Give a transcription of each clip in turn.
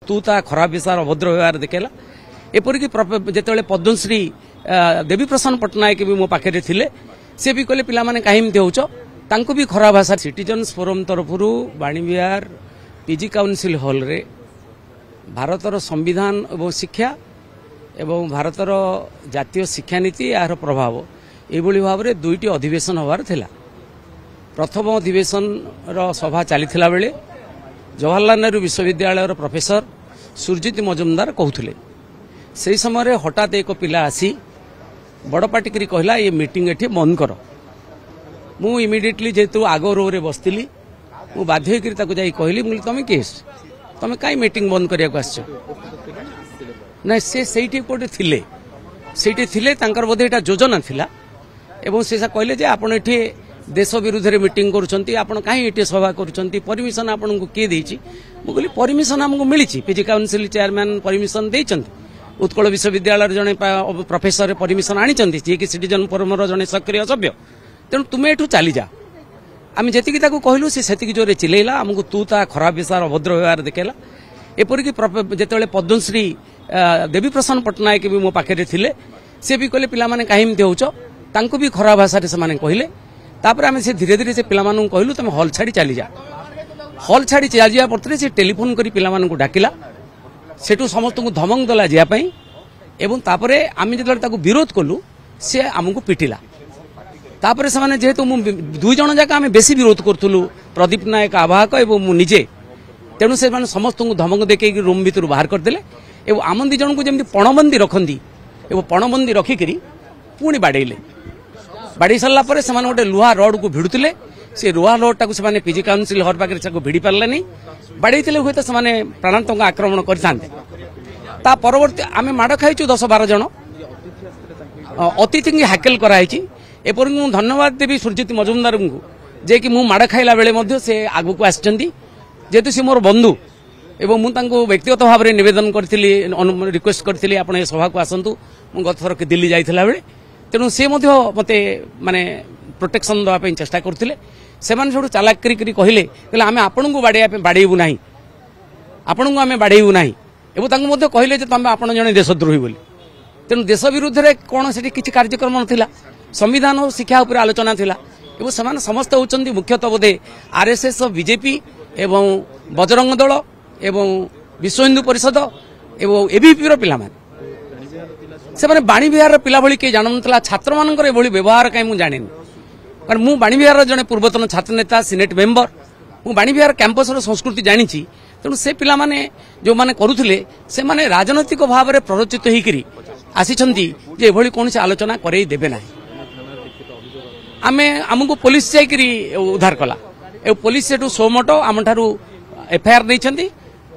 ତୁ ତା ଖରାପ ବିଷୟ ଅଭଦ୍ର ବ୍ୟବହାର ଦେଖେଇଲା। ଏପରିକି ଯେତେବେଳେ ପଦ୍ମଶ୍ରୀ ଦେବୀପ୍ରସନ୍ନ ପଟ୍ଟନାୟକ ବି ମୋ ପାଖରେ ଥିଲେ, ସେ ବି କହିଲେ ପିଲାମାନେ କାହିଁ ଏମିତି ହେଉଛ, ତାଙ୍କୁ ବି ଖରାପ ଭାଷା। ସିଟିଜନ୍ସ ଫୋରମ୍ ତରଫରୁ ବାଣୀବିହାର ପିଜି କାଉନସିଲ୍ ହଲ୍ରେ ଭାରତର ସମ୍ବିଧାନ ଏବଂ ଶିକ୍ଷା ଏବଂ ଭାରତର ଜାତୀୟ ଶିକ୍ଷାନୀତି ଏହାର ପ୍ରଭାବ ଏଇଭଳି ଭାବରେ ଦୁଇଟି ଅଧିବେଶନ ହେବାର ଥିଲା। ପ୍ରଥମ ଅଧିବେଶନର ସଭା ଚାଲିଥିଲା ବେଳେ ଜବାହରଲାଲ ନେହେରୁ ବିଶ୍ୱବିଦ୍ୟାଳୟର ପ୍ରଫେସର ସୁରଜିତ ମଜୁମଦାର କହୁଥିଲେ। ସେହି ସମୟରେ ହଠାତ୍ ଏକ ପିଲା ଆସି ବଡ଼ ପାଟିକରି କହିଲା, ଏ ମିଟିଂ ଏଠି ବନ୍ଦ କର। ମୁଁ ଇମିଡ଼ିଏଟଲି ଯେହେତୁ ଆଗ ରୋରେ ବସିଥିଲି, ମୁଁ ବାଧ୍ୟ ହୋଇକରି ତାକୁ ଯାଇ କହିଲି, ମୁଁ କହିଲି ତମେ କିଏ, ତମେ କାହିଁ ମିଟିଂ ବନ୍ଦ କରିବାକୁ ଆସିଛ? ନାଇଁ, ସେ ସେଇଠି କୋଉଠି ଥିଲେ, ସେଇଠି ଥିଲେ, ତାଙ୍କର ବୋଧେ ଏଇଟା ଯୋଜନା ଥିଲା। ଏବଂ ସେ କହିଲେ ଯେ ଆପଣ ଏଠି ଦେଶ ବିରୁଦ୍ଧରେ ମିଟିଂ କରୁଛନ୍ତି, ଆପଣ କାହିଁ ଏଠି ସଭା କରୁଛନ୍ତି, ପରମିଶନ ଆପଣଙ୍କୁ କିଏ ଦେଇଛି? ମୁଁ କହିଲି ପରମିଶନ ଆମକୁ ମିଳିଛି, ପିଜି କାଉନସିଲ୍ ଚେୟାରମ୍ୟାନ୍ ପରମିଶନ ଦେଇଛନ୍ତି, ଉତ୍କଳ ବିଶ୍ୱବିଦ୍ୟାଳୟର ଜଣେ ପ୍ରଫେସର ପରମିଶନ ଆଣିଛନ୍ତି, ଯିଏକି ସିଟିଜନ୍ ଫୋରମର ଜଣେ ସକ୍ରିୟ ସଭ୍ୟ, ତେଣୁ ତୁମେ ଏଠୁ ଚାଲିଯା। ଆମେ ଯେତିକି ତାକୁ କହିଲୁ ସେ ସେତିକି ଜୋରରେ ଚିଲେଇଲା, ଆମକୁ ତୁ ତା ଖରାପ ବିଷୟ ଅଭଦ୍ର ବ୍ୟବହାର ଦେଖେଇଲା। ଏପରିକି ଯେତେବେଳେ ପଦ୍ମଶ୍ରୀ ଦେବୀପ୍ରସନ୍ନ ପଟ୍ଟନାୟକ ବି ମୋ ପାଖରେ ଥିଲେ, ସେ ବି କହିଲେ ପିଲାମାନେ କାହିଁ ଏମିତି ହେଉଛ, ତାଙ୍କୁ ବି ଖରାପ ଭାଷାରେ ସେମାନେ କହିଲେ। ତାପରେ ଆମେ ସେ ଧୀରେ ଧୀରେ ସେ ପିଲାମାନଙ୍କୁ କହିଲୁ ତମେ ହଲ୍ ଛାଡ଼ି ଚାଲିଯା। ହଲ୍ ଛାଡ଼ି ଚାଲିଯିବା ପରେ ସେ ଟେଲିଫୋନ୍ କରି ପିଲାମାନଙ୍କୁ ଡାକିଲା, ସେଠୁ ସମସ୍ତଙ୍କୁ ଧମକ ଦେଲା ଯିବା ପାଇଁ। ଏବଂ ତାପରେ ଆମେ ଯେତେବେଳେ ତାକୁ ବିରୋଧ କଲୁ ସେ ଆମକୁ ପିଟିଲା। ତାପରେ ସେମାନେ ଯେହେତୁ ମୁଁ ଦୁଇ ଜଣ ଯାକ ଆମେ ବେଶୀ ବିରୋଧ କରୁଥିଲୁ, ପ୍ରଦୀପ ନାୟକ ଆବାହକ ଏବଂ ମୁଁ ନିଜେ, ତେଣୁ ସେମାନେ ସମସ୍ତଙ୍କୁ ଧମକ ଦେଖେଇକି ରୁମ୍ ଭିତରୁ ବାହାର କରିଦେଲେ ଏବଂ ଆମ ଦୁଇ ଜଣଙ୍କୁ ଯେମିତି ପଣବନ୍ଦୀ ରଖନ୍ତି ଏବଂ ପଣବନ୍ଦୀ ରଖିକରି ପୁଣି ବାଡ଼େଇଲେ। ବାଡ଼େଇ ସାରିଲା ପରେ ସେମାନେ ଗୋଟେ ଲୁହା ରଡ୍କୁ ଭିଡ଼ୁଥିଲେ, ସେ ଲୁହା ରଡ୍ଟାକୁ ସେମାନେ ପିଜି କାଉନସିଲ୍ ହଲ୍ ପାଖରେ ତାକୁ ଭିଡ଼ି ପାରିଲେନି, ବାଡ଼େଇଥିଲେ ହୁଏତ ସେମାନେ ପ୍ରାଣାନ୍ତକ ଆକ୍ରମଣ କରିଥାନ୍ତେ। ତା ପରବର୍ତ୍ତୀ ଆମେ ମାଡ଼ ଖାଇଛୁ 10-12 ଜଣ, ଅତିଥିଙ୍କୁ ହ୍ୟାକେଲ କରାହେଇଛି। ଏପରିକି ମୁଁ ଧନ୍ୟବାଦ ଦେବି ସୁରଜିତ ମଜୁମଦାରଙ୍କୁ, ଯେ କି ମୁଁ ମାଡ଼ ଖାଇଲା ବେଳେ ମଧ୍ୟ ସେ ଆଗକୁ ଆସିଛନ୍ତି, ଯେହେତୁ ସେ ମୋର ବନ୍ଧୁ ଏବଂ ମୁଁ ତାଙ୍କୁ ବ୍ୟକ୍ତିଗତ ଭାବରେ ନିବେଦନ କରିଥିଲି, ରିକ୍ୱେଷ୍ଟ କରିଥିଲି ଆପଣ ଏ ସଭାକୁ ଆସନ୍ତୁ, ମୁଁ ଗତଥର ଦିଲ୍ଲୀ ଯାଇଥିଲା ବେଳେ। ତେଣୁ ସେ ମଧ୍ୟ ମୋତେ ମାନେ ପ୍ରୋଟେକ୍ସନ୍ ଦେବା ପାଇଁ ଚେଷ୍ଟା କରୁଥିଲେ। ସେମାନେ ସେଠୁ ଚାଲାକ କରି କହିଲେ, କହିଲେ ଆମେ ଆପଣଙ୍କୁ ବାଡ଼େଇବା ପାଇଁ ବାଡ଼େଇବୁ ନାହିଁ, ଆପଣଙ୍କୁ ଆମେ ବାଡ଼େଇବୁ ନାହିଁ, ଏବଂ ତାଙ୍କୁ ମଧ୍ୟ କହିଲେ ଯେ ତମେ ଆପଣ ଜଣେ ଦେଶଦ୍ରୋହୀ ବୋଲି। ତେଣୁ ଦେଶ ବିରୁଦ୍ଧରେ କ'ଣ ସେଠି କିଛି କାର୍ଯ୍ୟକ୍ରମ ନଥିଲା, ସମ୍ବିଧାନ ଓ ଶିକ୍ଷା ଉପରେ ଆଲୋଚନା ଥିଲା। ଏବଂ ସେମାନେ ସମସ୍ତେ ହେଉଛନ୍ତି ମୁଖ୍ୟତଃ ବୋଧେ ଆର୍ଏସ୍ଏସ୍, ବିଜେପି ଏବଂ ବଜରଙ୍ଗ ଦଳ ଏବଂ ବିଶ୍ୱ ହିନ୍ଦୁ ପରିଷଦ ଏବଂ ଏବିପିର ପିଲାମାନେ। ସେମାନେ ବାଣୀବିହାରର ପିଲା ଭଳି କେହି ଜାଣୁନଥିଲା। ଛାତ୍ରମାନଙ୍କର ଏଭଳି ବ୍ୟବହାର କାହିଁ ମୁଁ ଜାଣିନି, କାରଣ ମୁଁ ବାଣୀବିହାରର ଜଣେ ପୂର୍ବତନ ଛାତ୍ର ନେତା, ସିନେଟ୍ ମେମ୍ବର, ମୁଁ ବାଣୀବିହାର କ୍ୟାମ୍ପସର ସଂସ୍କୃତି ଜାଣିଛି। ତେଣୁ ସେ ପିଲାମାନେ ଯେଉଁମାନେ କରୁଥିଲେ ସେମାନେ ରାଜନୈତିକ ଭାବରେ ପ୍ରରୋଚିତ ହେଇକରି ଆସିଛନ୍ତି ଯେ ଏଭଳି କୌଣସି ଆଲୋଚନା କରେଇ ଦେବେ ନାହିଁ। ଆମେ ଆମକୁ ପୋଲିସ ଯାଇକରି ଉଦ୍ଧାର କଲା ଏବଂ ପୋଲିସ ସେଠୁ ସୋମଟ ଆମଠାରୁ ଏଫଆଇଆର୍ ନେଇଛନ୍ତି।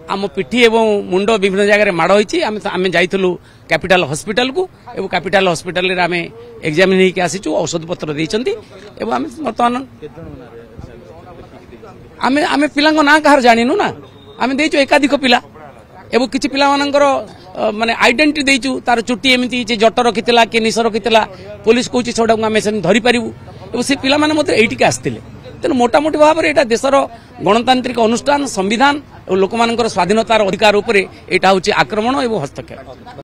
ଆମ ପିଠି ଏବଂ ମୁଣ୍ଡ ବିଭିନ୍ନ ଜାଗାରେ ମାଡ଼ ହୋଇଛି। ଆମେ ଯାଇଥିଲୁ କ୍ୟାପିଟାଲ ହସ୍ପିଟାଲକୁ ଏବଂ କ୍ୟାପିଟାଲ ହସ୍ପିଟାଲରେ ଆମେ ଏକ୍ଜାମିନ୍ ହେଇକି ଆସିଛୁ, ଔଷଧପତ୍ର ଦେଇଛନ୍ତି। ଏବଂ ଆମେ ବର୍ତ୍ତମାନ ଆମେ ଆମେ ପିଲାଙ୍କ ନାଁ କାହାର ଜାଣିନୁ ନା, ଆମେ ଦେଇଛୁ ଏକାଧିକ ପିଲା ଏବଂ କିଛି ପିଲାମାନଙ୍କର ମାନେ ଆଇଡେଣ୍ଟିଟି ଦେଇଛୁ। ତାର ଚୁଟି ଏମିତି ହେଇଛି, ଜଟ ରଖିଥିଲା କି ନିଶ ରଖିଥିଲା, ପୋଲିସ କହୁଛି ସେଗୁଡ଼ାକୁ ଆମେ ସେମିତି ଧରିପାରିବୁ। ଏବଂ ସେ ପିଲାମାନେ ମଧ୍ୟ ଏଇଠିକି ଆସିଥିଲେ। ତେଣୁ ମୋଟାମୋଟି ଭାବରେ ଏଇଟା ଦେଶର ଗଣତାନ୍ତ୍ରିକ ଅନୁଷ୍ଠାନ, ସମ୍ବିଧାନ ଏବଂ ଲୋକମାନଙ୍କର ସ୍ୱାଧୀନତାର ଅଧିକାର ଉପରେ ଏଇଟା ହେଉଛି ଆକ୍ରମଣ ଏବଂ ହସ୍ତକ୍ଷେପ।